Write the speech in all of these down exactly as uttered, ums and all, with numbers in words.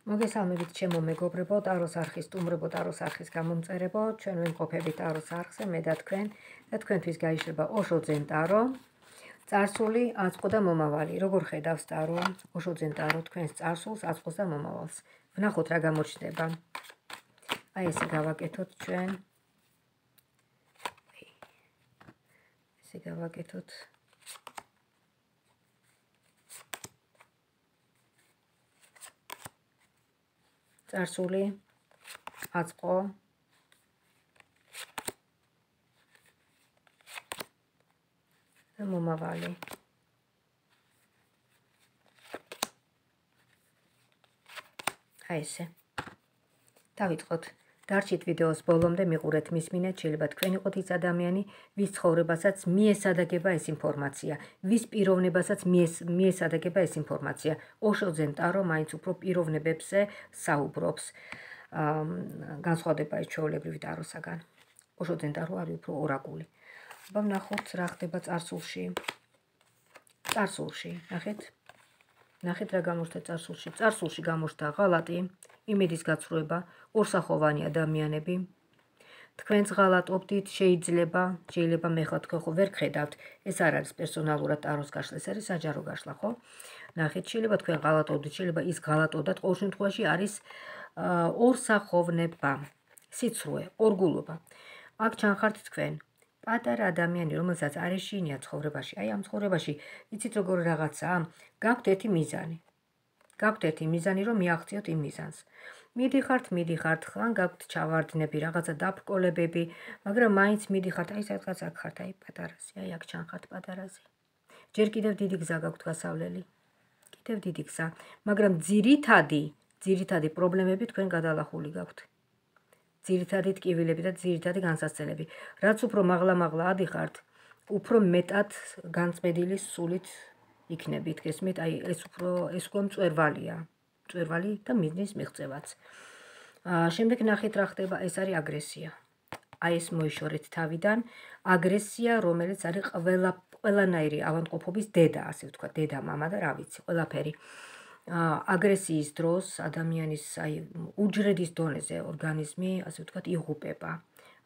მოგესალმებით ჩემო მეგობრებო, ტაროს არხის სტუმრებო, ტაროს არხის გამომწერებო, ჩვენ ვიმყოფებით ტაროს არხზე, მე და თქვენ და თქვენთვის გაიშლება ოშოძენ ტარო, წარსული, აწყო და მომავალი. როგორ ხედავს ტარო, ოშოძენ ტარო თქვენს წარსულს, აწყოს და მომავალს. ვნახოთ რა გამოჩნდება. აი ესე გავაკეთოთ ჩვენ. ესე გავაკეთოთ. წარსული, აწყო და მომავალი. აი ესე. დავიწყოთ. დარჩით ვიდეოს ბოლომდე, მიყურეთ, მისმინეთ, შეიძლება თქვენ იყოთ ის ადამიანი, ვის ცხოვრებასაც მიესადაგება ეს ინფორმაცია, ვის პიროვნებასაც მიესადაგება ეს ინფორმაცია. ოშოძენ ტარო მაინც უფრო პიროვნებებზე საუბრობს, განსხვავდება ის ჩვეულებრივი ტაროსაგან. ოშოძენ ტარო არის უფრო ორაკული. აბა ვნახოთ რა ხდება წარსულში. წარსულში, ნახეთ? ნახეთ რა გამოჩნდა წარსულში. წარსულში გამოჩნდა ღალატი, იმედის გაცრუება, ორსახოვანი ადამიანები. თქვენც ღალატობდით, შეიძლება, შეიძლება მე ხარ თქვენ ხო ვერ ხედავთ, ეს არ არის პერსონალურად ტაროს გაშლა, ეს არის საჯარო გაშლა, ხო? ნახეთ, შეიძლება თქვენ ღალატობდით, შეიძლება ის ღალატობდათ, ყოველ შემთხვევაში არის ორსახოვნება, სიცრუე, ორგულობა. აქ ჩანხართ თქვენ. პატარა ადამიანი, რომელსაც არ ეშინია ცხოვრებაში, აი ამ ცხოვრებაში, იცით როგორ რაღაცაა, გაქვთ ერთი მიზანი. გაქვთ ერთი მიზანი, რომ მიაღწიოთ იმ მიზანს. მიდიხართ, მიდიხართ, ხან გაქვთ ჩავარდნები, რაღაცა დაბრკოლებები, მაგრამ მაინც მიდიხართ, აი სადღაც აქ ხართ, აი პატარაზე, აი აქ ჩანხართ პატარაზე. ჯერ კიდევ დიდი გზა გაქვთ გასავლელი. კიდევ დიდი გზა, მაგრამ ძირითადი, ძირითადი პრობლემები თქვენ გადალახული გაქვთ. ძირითადი ტკივილები და ძირითადი განსაცდელები. რაც უფრო მაღლა-მაღლა ადიხართ, უფრო მეტად განწმენდილი სულით იქნებით, გესმით, აი ეს უფრო ეს უკვე მწვერვალია. მწვერვალი და მიზნის მიღწევაც. შემდეგ ნახეთ რა ხდება, ეს არის აგრესია. აი ეს მოიშორეთ თავიდან, აგრესია, რომელიც არის ყველა ყველანაირი ავადმყოფობის დედა, ასე ვთქვათ, დედა, მამა და რა ვიცი, ყველაფერი. აგრესიის დროს ადამიანის აი უჯრედის დონეზე ორგანიზმი, ასე ვთქვათ, იღუპება.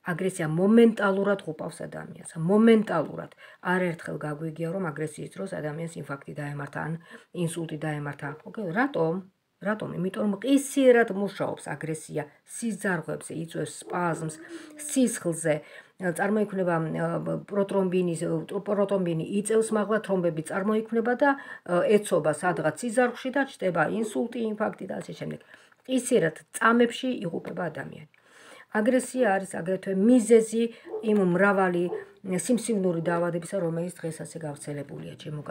აგრესია მომენტალურად ღუპავს ადამიანს, მომენტალურად. არაერთხელ გაგვიგია, რომ აგრესიის დროს ადამიანს ინფარქტი დაემართა ან ინსულტი დაემართა. ოკეი, რატომ? რატომ? იმიტომ რომ ყისიერად მუშაობს აგრესია, სიზარღვებზე იწვევს სპაზმს, სისხლზე, წარმოიქმნება პროტრომბინის, პროტომბინი იწევს მაღლა, თრომბები წარმოიქმნება და ეცობა სადღაც სიზარღვში და ჩდება ინსულტი, ინფარქტი და ასე შემდეგ. ყისიერად წამებში იღუპება ადამიანი. აგრესია არის აგრეთვე მიზეზი იმ მრავალი სიმსივნური დაავადებისა, რომელიც დღეს ასე გავრცელებულია, ჩემო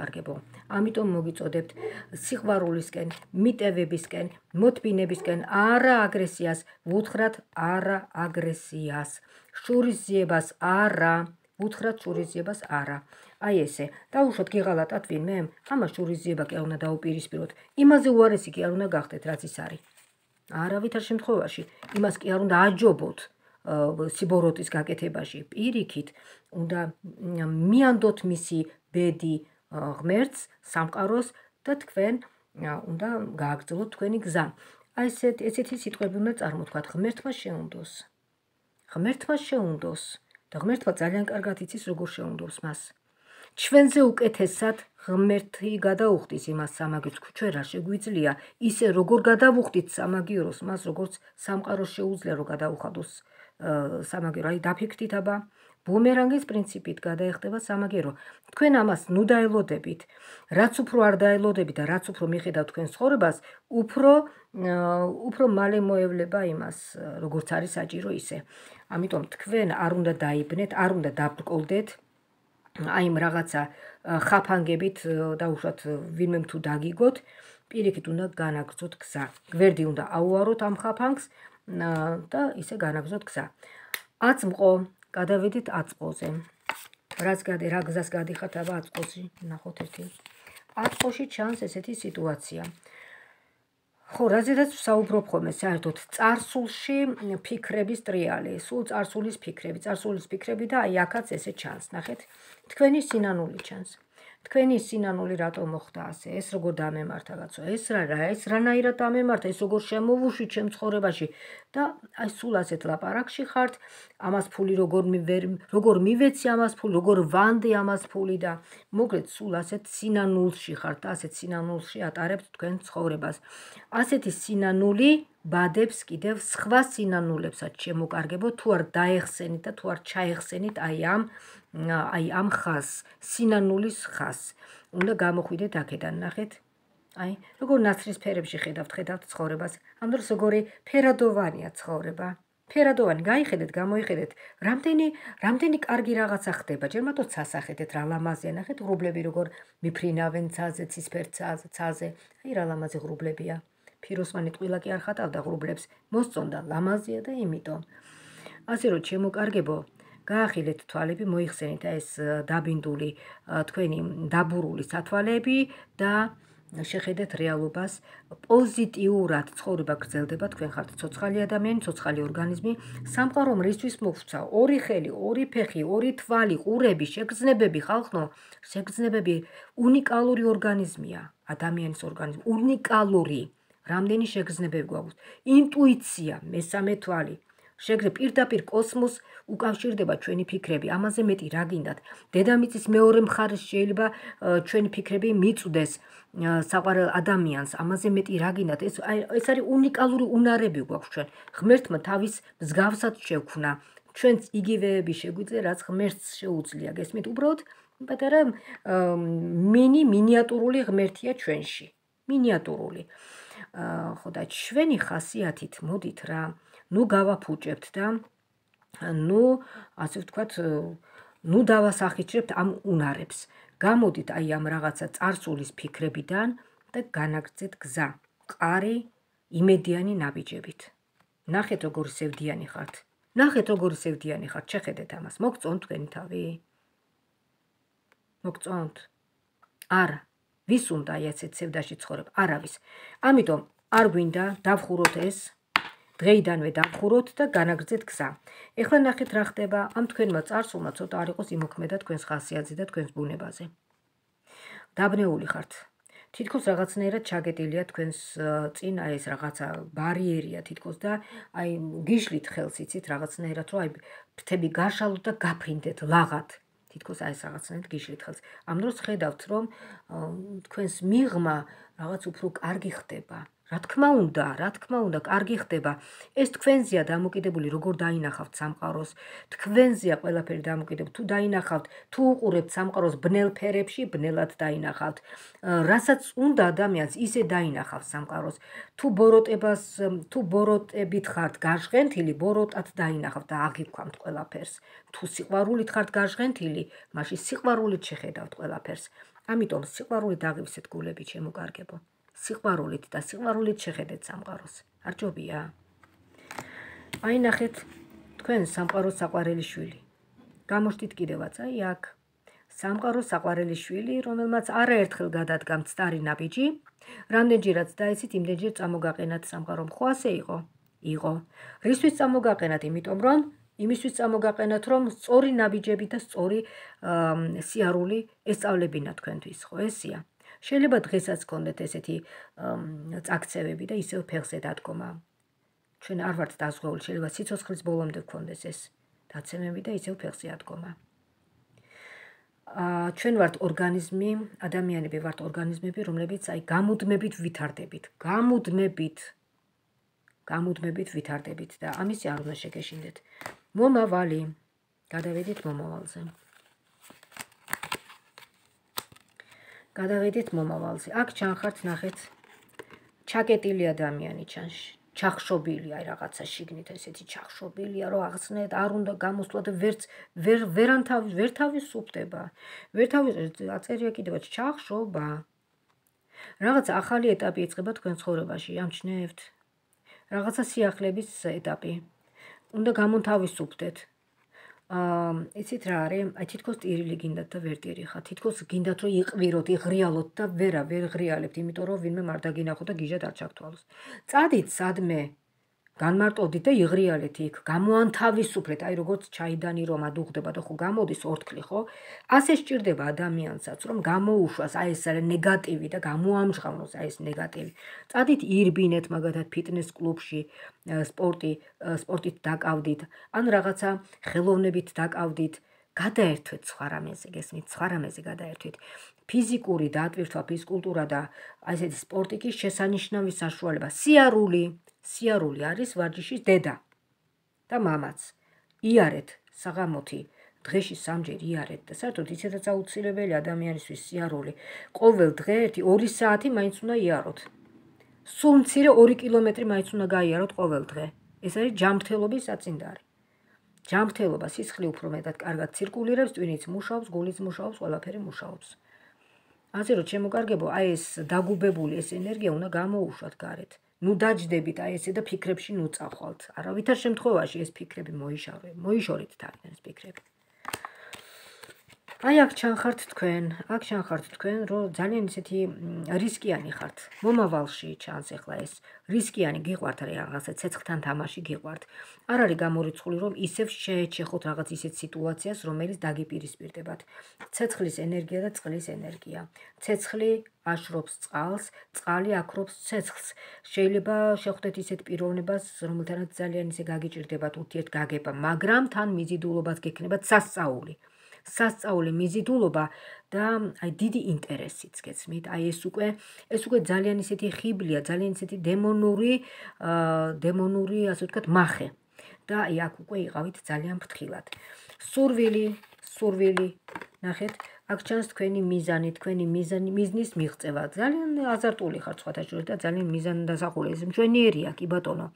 ამიტომ მოგიწოდებთ სიყვარულისკენ, მიტევებისკენ, მოთბინებისკენ, არა აგრესიას, ვუთხრათ არა აგრესიას, შურისძიებას არა, ვუთხრათ შურისძიებას არა. აი ესე, დაუშვათ გიღალატათ ვინმე, ამას შურისძიება კი არ უნდა დაუპირისპიროთ, იმაზე უარესი კი არ უნდა გახდეთ, რაც ის არის. არავითარ შემთხვევაში იმას კი არ უნდა აჯობოთ სიბოროტის გაკეთებაში, პირიქით უნდა მიანდოთ მისი ბედი ღმერთს, სამყაროს და თქვენ უნდა გააგრძელოთ თქვენი გზა. აი ესეთ ესეთი სიტყვები უნდა წარმოთქვათ, ღმერთმა შეუნდოს. ღმერთმა შეუნდოს და ღმერთმა ძალიან კარგად იცის როგორ შეუნდოს მას. ჩვენზე უკეთესად ღმერთი გადაუხდის იმას სამაგიეროს, ჩვენ რა შეგვიძლია, ისე როგორ გადავუხდით სამაგიეროს, მას როგორც სამყაროს შეუძლია რომ გადაუხადოს სამაგიერო, აი დაფიქრდით აბა, ბუმერანგის პრინციპით გადაეხტება სამაგიერო. თქვენ ამას ნუ დაელოდებით, რაც უფრო არ დაელოდებით და რაც უფრო მიხედავთ თქვენ ცხოვრებას, უფრო უფრო მალე მოევლება იმას, როგორც არის საჭირო ისე. ამიტომ თქვენ არ უნდა დაიბნეთ, არ უნდა დაბრკოლდეთ აი იმ რაღაცა ხაფანგებით დაუშვათ ვინმე თუ დაგიგოთ, პირიქით უნდა განაგრძოთ გზა. გვერდი უნდა აუაროთ ამ ხაფანგს და ისე განაგრძოთ გზა. აწმყო, გადავედით აწყოზე. რაც გადი, რა გზას გადიხართ აბა აწყოში, ნახოთ ერთი. აწყოში ჩანს ესეთი სიტუაცია. ხო, რაზედაც ვსაუბრობ ხოლმე საერთოდ წარსულში ფიქრების ტრიალი, სულ წარსულის ფიქრები, წარსულის ფიქრები და აი აქაც ესე ჩანს, ნახეთ, თქვენი სინანული ჩანს. თქვენი სინანული რატომ მოხდა ასე? ეს როგორ დამემართა კაცო? ეს რა რა? ეს რანაირად დამემართა? ეს როგორ შემოვუშვი ჩემ ცხოვრებაში? და აი სულ ასეთ ლაპარაკში ხართ, ამას ფული როგორ მივერ როგორ მივეცი ამას ფული, როგორ ვანდე ამას ფული და მოკლედ სულ ასეთ სინანულში ხართ და ასეთ სინანულში ატარებთ თქვენ ცხოვრებას. ასეთი სინანული ბადებს კიდევ სხვა სინანულებსაც შემოკარგებო, თუ არ დაეხსენით და თუ არ ჩაეხსენით აი ამ აი ამ ხაზს, სინანულის ხაზს. უნდა გამოხვიდეთ აქედან, ნახეთ. აი, როგორ ნაცრისფერებში ხედავთ, ხედავთ ცხოვრებას. ამ დროს როგორი ფერადოვანია ცხოვრება. ფერადოვანი, გაიხედეთ, გამოიხედეთ. რამდენი რამდენი კარგი რაღაცა ხდება. ჯერ მარტო ცასახედეთ, რა ლამაზია, ნახეთ, ღრუბლები როგორ მიფრინავენ ცაზე, ცისფერ ცაზე. აი რა ლამაზი ღრუბლებია. ფიროსმანი ტყილა კი არ ხატავდა ღრუბლებს, მოსწონდა, ლამაზია და იმიტომ. ასე რომ შემოკარგებო, გაახილეთ თვალები, მოიხსენით ეს დაბინდული თქვენი დაბურული სათვალეები და შეხედეთ რეალობას პოზიტიურად. ცხოვრება გრძელდება, თქვენ ხართ ცოცხალი ადამიანი, ცოცხალი ორგანიზმი. სამყარო რისთვის მოგვცა? ორი ხელი, ორი ფეხი, ორი თვალი, ყურები, შეგრძნებები, ხალხო, შეგრძნებები უნიკალური ორგანიზმია, ადამიანის ორგანიზმი, უნიკალური. რამდენი შეგრძნებები გვაქვს? ინტუიცია, მესამე თვალი. შეგრე პირდაპირ კოსმოსს უკავშირდება ჩვენი ფიქრები, ამაზე მეტი რა გინდათ? დედამიწის მეორე მხარეს შეიძლება ჩვენი ფიქრები მიწვდეს საყვარელ ადამიანს, ამაზე მეტი რა გინდათ? ეს ეს არის უნიკალური უნარები გვაქვს ჩვენ. ღმერთმა თავის მსგავსად შექმნა. ჩვენც იგივეები შეგვიძლია, რაც ღმერთს შეუძლია. გესმით? უბრალოდ პატარა მინი მინიატურული ღმერთია ჩვენში. მინიატურული. ხო და ჩვენი ხასიათით მოდით რა. ნუ გავაფუჭებთ და ნუ ასე ვთქვათ, ნუ დავასახიჩრებთ ამ უნარებს. გამოდით აი ამ რაღაცა წარსულის ფიქრებიდან და განაგრძეთ გზა. მყარი, იმედიანი ნაბიჯებით. ნახეთ როგორი სევდიანი ხართ. ნახეთ როგორი სევდიანი ხართ. შეხედეთ ამას. მოგწონთ თქვენი თავი? მოგწონთ? არა. ვის უნდა აი ასეთ სევდაში ცხოვრება? არავის. ამიტომ არ გვინდა დავხუროთ ეს. დღეიდანვე დავხუროთ და განაგრძეთ გზა. ეხლა ნახეთ რა ხდება, ამ თქვენმა წარსულმა ცოტა არ იყოს იმოქმედა თქვენს ხასიათზე და თქვენს ბუნებაზე. დაბნეული ხართ. თითქოს რაღაცნაირად ჩაგეტილია თქვენს წინ აი ეს რაღაცა ბარიერია თითქოს და აი გიშლით ხელს იცით რაღაცნაირად რომ აი ფრთები გაშალოთ და გაფრინდეთ ლაღად. თითქოს აი ეს რაღაცნაირად გიშლით ხელს. ამ დროს ხედავთ რომ თქვენს მიღმა რაღაც უფრო კარგი ხდება. რა თქმა უნდა, რა თქმა უნდა, კარგი ხდება. ეს თქვენზეა დამოკიდებული, როგორ დაინახავთ სამყაროს. თქვენზეა ყველაფერი დამოკიდებული. თუ დაინახავთ, თუ უყურებთ სამყაროს ბნელ ფერებში, ბნელად დაინახავთ. რასაც უნდა ადამიანს, ისე დაინახავთ სამყაროს. თუ ბოროტებას, თუ ბოროტებით ხართ გაჟღენთილი, ბოროტად დაინახავთ და აღიქვამთ ყველაფერს. თუ სიყვარულით ხართ გაჟღენთილი, მაშინ სიყვარულით შეხედავთ ყველაფერს. ამიტომ სიყვარულით აღივსეთ გულები, შემოკარგებო. სიყვარულით და სიყვარულით შეხედეთ სამყაროს. არ ჯობია? აი ნახეთ, თქვენ სამყაროს საყვარელი შვილი. გამოშტით კიდევაც აი აქ. სამყაროს საყვარელი შვილი, რომელმაც არაერთხელ გადადგა მცდარი ნაბიჯი, რამდენჯერაც დაიცით, იმდენჯერ წამოგაყენათ სამყარომ. ხო ასე იყო? იყო. რისთვის წამოგაყენათ? იმიტომ რომ იმისთვის წამოგაყენათ, რომ სწორი ნაბიჯები და სწორი სიარული ესწავლებინა თქვენთვის, ხო ესია? შეიძლება დღესაც გქონდეთ ესეთი წაქცევები და ისევ ფეხზე დადგომა. ჩვენ არ ვართ დაზღვეული, შეიძლება სიცოცხლის ბოლომდე გქონდეს ეს დაცემები და ისევ ფეხზე ადგომა. ჩვენ ვართ ორგანიზმი, ადამიანები ვართ ორგანიზმები, რომლებიც აი გამუდმებით ვითარდებით, გამუდმებით, გამუდმებით ვითარდებით და ამისი არ უნდა შეგეშინდეთ. მომავალი, გადავედით მომავალზე. გადავედით მომავალზე. აქ ჩანხართ, ნახეთ, ჩაკეტილი ადამიანი ჩანს, ჩახშობილი, აი რაღაცა შიგნით ესეთი ჩახშობილია, რომ აღსნეთ, არ უნდა გამოსვლა და ვერც ვერ ვერანთავი, ვერ თავისუფლდება. ვერ თავის აწერია კიდევაც ჩახშობა. რაღაცა ახალი ეტაპი იწყება თქვენ ცხოვრებაში, ამჩნევთ. რაღაცა სიახლეების ეტაპი. უნდა გამონთავისუფლდეთ. იცით რა არის? აი თითქოს ტირილი გინდათ და ვერ ტირიხართ. თითქოს გინდათ რომ იყვიროთ, იღრიალოთ და ვერა ვერ ღრიალებთ, იმიტომ რომ ვინმე მარდაგინახო და გიჟად არ ჩაგთვალოს. წადით სადმე. განმარტოვდით და იღრიალეთ იქ, გამოანთავისუფლეთ, აი როგორც ჩაიდანი რომ ადუღდება და ხო გამოდის ორთქლი, ხო? ასე სჭირდება ადამიანსაც, რომ გამოუშვას აი ეს ნეგატივი და გამოამჟღავნოს აი ეს ნეგატივი. წადით ირბინეთ მაგათად ფიტნეს კლუბში, სპორტი, სპორტით დაკავდით, ან რაღაცა ხელოვნებით დაკავდით. გადაერთვეთ სხვა რამეზე, გესმით, სხვა რამეზე გადაერთვით. ფიზიკური დატვირთვა, ფიზკულტურა და აი ესეთი სპორტი კი შესანიშნავი საშუალება. სიარული, სიარული არის ვარჯიშის დედა და მამაც. იარეთ საღამოთი, დღეში სამჯერ იარეთ და საერთოდ ისედაც აუცილებელი ადამიანისთვის სიარული. ყოველ დღე ერთი ორი საათი მაინც უნდა იაროთ. სულ მცირე ორი კილომეტრი მაინც უნდა გაიაროთ ყოველ დღე. ეს არის ჯანმრთელობის საწინდარი. ჯანმრთელობა, სისხლი უფრო მეტად კარგად ცირკულირებს, ტვინიც მუშაობს, გულიც მუშაობს, ყველაფერი მუშაობს. ასე რომ შემოგარგებო, აი ეს დაგუბებული ეს ენერგია უნდა გამოუშვათ გარეთ. ნუ დაჯდებით აი ესე და ფიქრებში ნუ წახვალთ. არავითარ შემთხვევაში ეს ფიქრები მოიშორეთ, მოიშორეთ თავიდან ეს ფიქრები. აი აქ ჩანხართ თქვენ, აქ ჩანხართ თქვენ, რომ ძალიან ისეთი რისკიანი ხართ. მომავალში ჩანს ახლა ეს რისკიანი გიყვართ, რაღაცა ცეცხლთან თამაში გიყვართ. არ არის გამორიცხული, რომ ისევ შეეჩეხოთ რაღაც ისეთ სიტუაციას, რომელიც დაგიპირისპირდებათ. ცეცხლის ენერგია და წყლის ენერგია. ცეცხლი აშრობს წყალს, წყალი აქრობს ცეცხლს. შეიძლება შეხვდეთ ისეთ პიროვნებას, რომელთანაც ძალიან ისე გაგიჭირდებათ ურთიერთგაგება, მაგრამ თან მიზიდულობაც გექნებათ სასწაული. სასწაული მიზიდულობა და აი დიდი ინტერესიც გეცმით. აი ეს უკვე ეს უკვე ძალიან ისეთი ხიბლია, ძალიან ისეთი დემონური, დემონური, ასე ვთქვათ, მახე. და აი აქ უკვე იყავით ძალიან ფრთხილად. სურვილი, სურვილი, ნახეთ, აქ ჩანს თქვენი მიზანი, თქვენი მიზანი, მიზნის მიღწევა. ძალიან აზარტული ხართ სხვათა შორის და ძალიან მიზანდასახული. ეს მშვენიერია, კი ბატონო.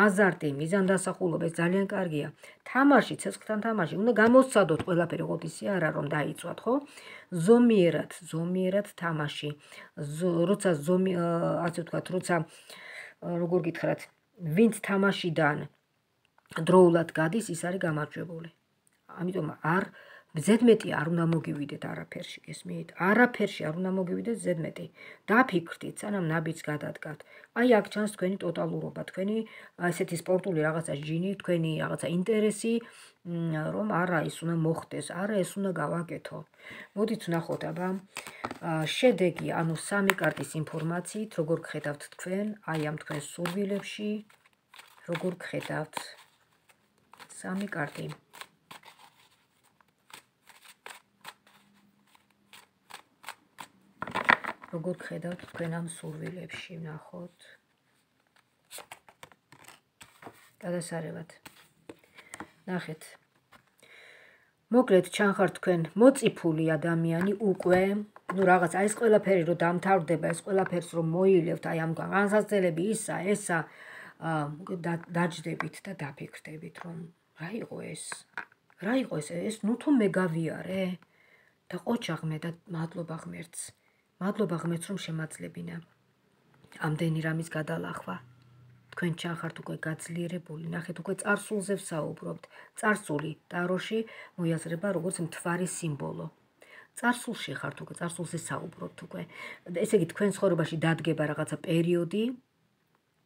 აზარტი, მიზანდასახულობა ეს ძალიან კარგია. თამაში, ცეცხლთან თამაში, უნდა გამოსცადოთ ყველაფერი, ოღონდ ისე არა რომ დაიცვათ, ხო? ზომიერად, ზომიერად თამაში. როცა ზომი, ასე ვთქვათ, როცა როგორ გითხრათ, ვინც თამაშიდან დროულად გადის, ის არის გამარჯვებული. ამიტომ არ ზედმეტი არ უნდა მოგივიდეთ არაფერში, გესმით? არაფერში არ უნდა მოგივიდეთ ზედმეტი. დაფიქრდით, სანამ ნაბიჯს გადადგათ. აი აქ ჩანს თქვენი ტოტალურობა, თქვენი ესეთი სპორტული რაღაცა ჟინი, თქვენი რაღაცა ინტერესი, რომ არა ის უნდა მოხდეს, არა ეს უნდა გავაკეთო. მოდით ვნახოთ, აბა, შედეგი, ანუ სამი კარტის ინფორმაციით, როგორ გხედავთ თქვენ, აი ამ თქვენ სურვილებში, როგორ გხედავთ. სამი კარტი. როგორ გხედავთ თქვენ ამ სურვილებში, ვნახოთ. გადასარევად. ნახეთ. მოკლედ ჩანხართ თქვენ მოწიფული ადამიანი უკვე, ნუ რაღაც აი ეს ყველაფერი რომ დამთავრდება, ეს ყველაფერს რომ მოილებთ, აი ამ განსაცდელები ისა, ესა, დაჯდებით და დაფიქრდებით, რომ რა იყო ეს? რა იყო ეს? ეს ნუ თუ მე გავიარე და ყოჩაღმე და მადლობა ღმერთს. მადლობა ღმერთს რომ შემაძლებინა. ამდენი რამის გადალახვა. თქვენ ჩანხართ უკვე გაძლიერებული, ნახეთ უკვე წარსულზე ვსაუბრობთ. წარსული ტაროში მოიაზრება როგორც მთვარის სიმბოლო. წარსულში ხართ უკვე, წარსულზე საუბრობთ უკვე. ესე იგი თქვენ ცხოვრებაში დადგება რაღაცა პერიოდი,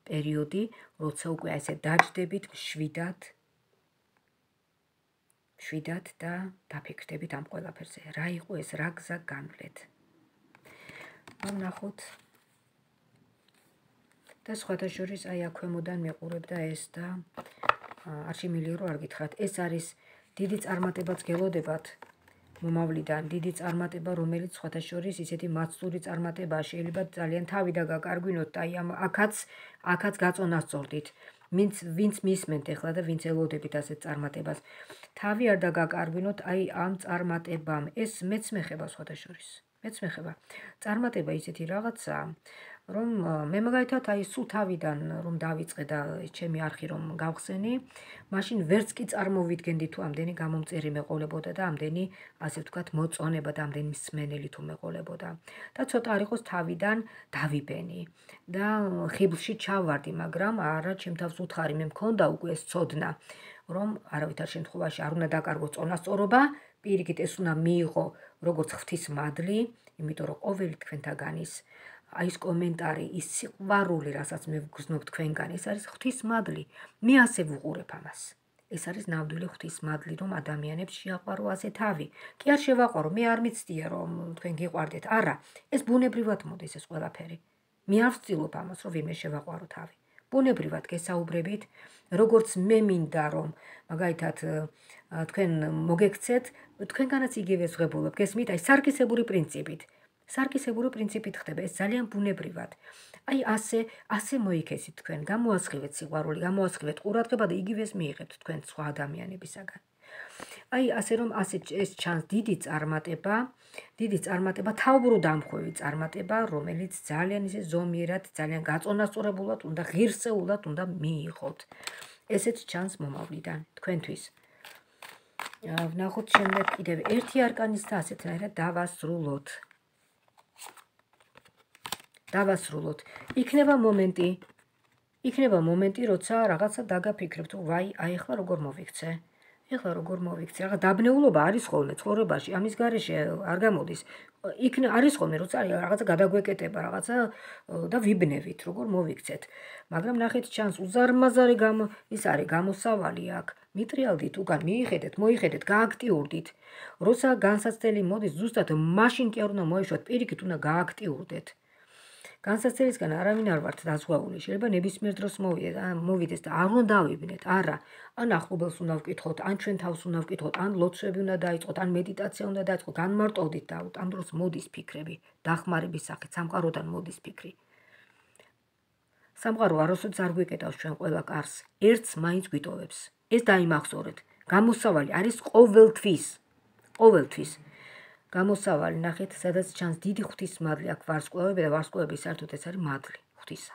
პერიოდი, როცა უკვე ესე დაჯდებით მშვიდად, მშვიდად და დაფიქრდებით ამ ყველაფერზე. რა იყო ეს, რა გზა განვლეთ. ვნახოთ. და სხვათა შორის აი აქ ქვემოდან მეყურებდა ეს და არ შემიძლია რომ არ გითხრათ. ეს არის დიდი წარმატებაც გელოდებათ მომავლიდან, დიდი წარმატება, რომელიც სხვათა შორის ისეთი მაცდური წარმატებაა, შეიძლება ძალიან თავი და გაკარგვინოთ და აი ამ აქაც აქაც გაწონას სწორდით. ვინც ვინც მისმენთ ახლა და ვინც ელოდებით ასეთ წარმატებას. თავი არ დაგაკარგვინოთ აი ამ წარმატებამ. ეს მეც მეხება სხვათა შორის. მეც მეხება. წარმატება ისეთი რაღაცაა, რომ მე მაგალითად აი სულ თავიდან რომ დავიწყე და ჩემი არხი რომ გავხსენი, მაშინ ვერც კი წარმოვიდგენდი თუ ამდენი გამომწერი მეყოლებოდა და ამდენი, ასე ვთქვათ, მოწონება და ამდენი მსმენელი თუ მეყოლებოდა. და ცოტა არ იყოს თავიდან დავიბენი და ხიბლში ჩავარდი, მაგრამ არა, ჩემ თავს უთხარი, მე მქონდა უკვე ეს ცოდნა, რომ არავითარ შემთხვევაში არ უნდა დაკარგოს წონასწორობა, პირიქით ეს უნდა მიიღო როგორც ღვთის მადლი, იმიტომ რომ ყოველი თქვენთაგანის აი ეს კომენტარი, ის სიყვარული, რასაც მე ვგრძნობ თქვენგან, ეს არის ღვთისმადლი. მე ასე ვუყურებ ამას. ეს არის ნამდვილი ღვთისმადლი, რომ ადამიანებს შეაყვარო ასე თავი. კი არ შევაყვარო, მე არ მიცდია რომ თქვენ გიყვარდეთ. არა, ეს ბუნებრივად მოდის ეს ყველაფერი. მე არ ვცდილობ ამას, რომ ვინმე შევაყვარო თავი. ბუნებრივად გესაუბრებით, როგორც მე მინდა რომ მაგალითად თქვენ მოგექცეთ, თქვენგანაც იგივე ზღებულობ, გესმით? აი სარკისებური პრინციპით. სარკისებური პრინციპით ხდება, ეს ძალიან ბუნებრივად. აი ასე, ასე მოიქესით თქვენ, გამოასხივეთ სიყვარული, გამოასხივეთ ყურადღება და იგივეს მიიღებთ თქვენ სხვა ადამიანებისაგან. აი ასე რომ ასე ეს ჩანს დიდი წარმატება, დიდი წარმატება, თავბრუდამხვევი წარმატება, რომელიც ძალიან ისე ზომიერად, ძალიან გაწონასწორებულად უნდა ღირსეულად უნდა მიიღოთ. ესეც ჩანს მომავლიდან თქვენთვის. ვნახოთ შემდეგ კიდევ ერთი არკანის და ასეთნაირად დავასრულოთ. დავასრულოთ. იქნება მომენტი, იქნება მომენტი, როცა რაღაცა დაგაფიქრებთ, ვაი, აი ახლა როგორ მოვიქცე? ეხლა როგორ მოვიქცე? რაღაც დაბნეულობა არის ხოლმე ცხოვრებაში, ამის გარეშე არ გამოდის. იქ არის ხოლმე, როცა რაღაცა გადაგვეკეტება, რაღაცა და ვიბნევით, როგორ მოვიქცეთ. მაგრამ ნახეთ ჩანს უზარმაზარი გამო ის არის გამოსავალი აქ. მიტრიალდით უკან, მიიხედეთ, მოიხედეთ, გააქტიურდით. როცა განსაცდელი მოდის, ზუსტად მაშინ კი არ უნდა მოეშვათ, პირიქით უნდა გააქტიურდეთ. განსაცდელისგან არავინ არ ვართ დაზღვეული, შეიძლება ნებისმიერ დროს მოვიდეს და არ უნდა დავიბნეთ, არა, ან ახლობელს უნდა ვკითხოთ, ან ჩვენ თავს უნდა ვკითხოთ, ან ლოცვები უნდა დაიწყოთ, ან მედიტაცია უნდა დაიწყოთ, განმარტოვდით და ამ დროს მოდის ფიქრები, დახმარების სახით, სამყაროდან მოდის ფიქრი. სამყარო არასოდეს არ გვიკეტავს ჩვენ ყველა კარს, ერთს მაინც გვიტოვებს. ეს დაიმახსოვრეთ, გამოსავალი არის ყოველთვის, ყოველთვის. გამოსავალი ნახეთ, სადაც ჩანს დიდი ღვთისმადლი, აქ ვარსკვლავები და ვარსკვლავების საერთოდ ეს არის მადლი ღვთისა.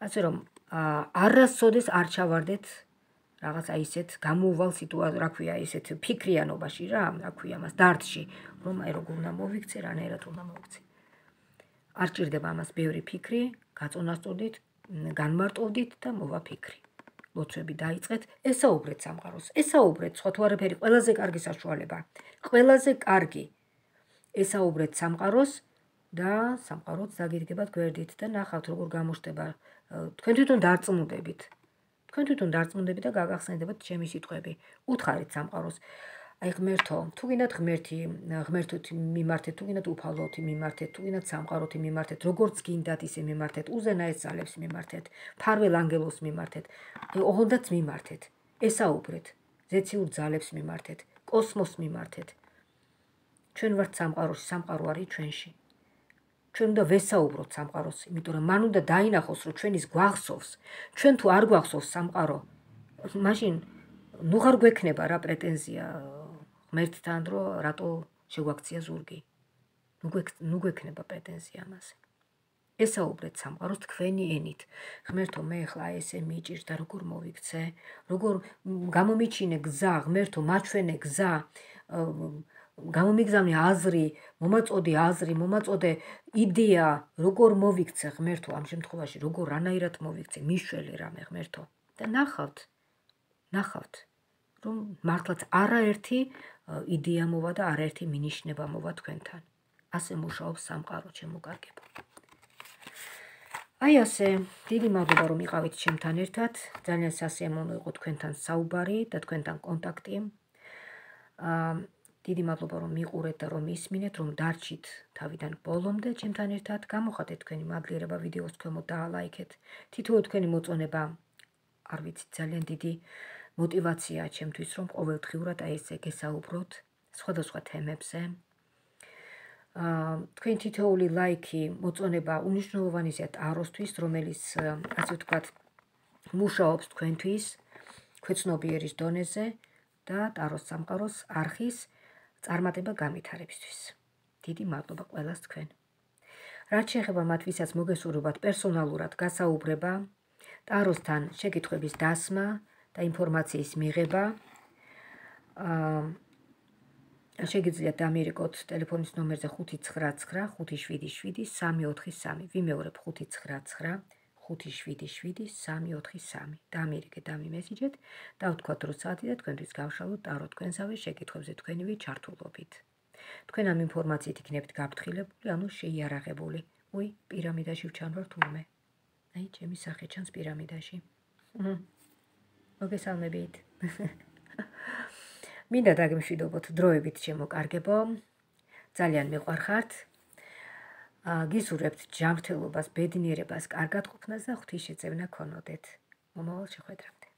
ასე რომ არასოდეს არ ჩავარდეთ რაღაც აი ესეთ გამოუვალ სიტუაციაში, რა ქვია, ესეთ ფიქრიანობაში რა, რა ქვია მას, დარდში, რომ აი როგორ უნდა მოვიქცე, რანაირად უნდა მოვიქცე. არ ჭირდება ამას ბევრი ფიქრი, გაწონასწორდით, განმარტოვდით და მოვა ფიქრი. ლოცვები დაიწყეთ, ესაუბრეთ სამყაროს, ესაუბრეთ, სხვა თუ არაფერი, ყველაზე კარგი საშუალება. ყველაზე კარგი. ესაუბრეთ სამყაროს და სამყაროც დაგიდგებათ გვერდით და ნახავთ როგორ გამოჩნდება. თქვენ თვითონ დარწმუნდებით. თქვენ თვითონ დარწმუნდებით და გაგახსენდებათ ჩემი სიტყვები. უთხარით სამყაროს. აი ღმერთო, თუ გინდათ ღმერთი, ღმერთოთ მიმართეთ, თუ გინდათ უფალოთ მიმართეთ, თუ გინდათ სამყაროთ მიმართეთ, როგორც გინდათ ისე მიმართეთ, უზენაეს ძალებს მიმართეთ, ფარველ ანგელოს მიმართეთ, ოღონდაც მიმართეთ. ესაუბრეთ, ზეციურ ძალებს მიმართეთ, კოსმოსს მიმართეთ. ჩვენ ვართ სამყაროში, სამყარო არის ჩვენში. ჩვენ უნდა ვესაუბროთ სამყაროს, იმიტომ რომ მან უნდა დაინახოს, რომ ჩვენ ის გვახსოვს. ჩვენ თუ არ გვახსოვს სამყარო, მაშინ ნუ ღარ გვექნება რა პრეტენზია ღმერთთან, რომ რატო შეგვაქცია ზურგი. ნუ გვექნება პრეტენზია ამაზე. ესაუბრეთ სამყაროს თქვენი ენით. ღმერთო, მე ახლა ესე მიჭირდა, როგორ მოვიქცე, როგორ გამომიჩინე გზა, ღმერთო, მაჩვენე გზა, გამომიგზავნე აზრი, მომაწოდე აზრი, მომაწოდე იდეა, როგორ მოვიქცე ღმერთო, ამ შემთხვევაში, როგორ რანაირად მოვიქცე, მიშველე რამე ღმერთო. და ნახავთ, ნახავთ, რომ მართლაც არაერთი იდეა მოვა და არაერთი მინიშნება მოვა თქვენთან. ასე მუშაობს სამყარო, ჩემოგარგებო. აი ასე, დიდი მადლობა რომ იყავით ჩემთან ერთად, ძალიან სასიამოვნო იყო თქვენთან საუბარი და თქვენთან კონტაქტი. დიდი მადლობა რომ მიყურეთ და რომ ისმინეთ, რომ დარჩით თავიდან ბოლომდე ჩემთან ერთად, გამოხატეთ თქვენი მადლიერება ვიდეოს ქვემოთ და ლაიქეთ. თითოეულ თქვენი მოწონება, არ ვიცი, ძალიან დიდი мотивация ჩემთვის, რომ ყოველდღიურად აი ესე გესაუბროთ სხვადასხვა თემებზე. თქვენ თითოეული ლაიქი, მოწონება უნიშნულოვანია ტაროსთვის, რომელიც ასე ვთქვათ, მუშაობს თქვენთვის, ქვეცნობიერის დონეზე და ტაროს სამყაროს არხის წარმატება გამithარებისთვის. დიდი მადლობა ყველას თქვენ. რაც შეეხება მათ ვისაც მოგესურვებათ პერსონალურად გასაუბრება, ტაროსთან შეკითხვების დასმა და ინფორმაციის მიღება, შეგიძლიათ დამირეკოთ ტელეფონის ნომერზე ხუთი ცხრა ცხრა ხუთი შვიდი შვიდი სამი ოთხი სამი. ვიმეორებ ხუთი ცხრა ცხრა ხუთი შვიდი შვიდი სამი ოთხი სამი. დამირეკეთ, დამიმესიჯეთ და ვთქვათ რომ საათი და თქვენთვის გავშალოთ ტარო თქვენსავე შეკითხვებზე თქვენივე ჩართულობით. თქვენ ამ ინფორმაციით იქნებით გაფრთხილებული, ანუ შეიარაღებული. უი, პირამიდაში ვჩანვარ თურმე. აი, ჩემი სახე ჩანს პირამიდაში. მოგესალმებით. მინდა დაგემშვიდობოთ დროებით ჩემო კარგებო. ძალიან მიყვარხართ. გისურვებთ ჯანმრთელობას, ბედნიერებას, კარგად ყოფნას და ღვთის შეწევნა ქონოდეთ. მომავალ შეხვედრამდე.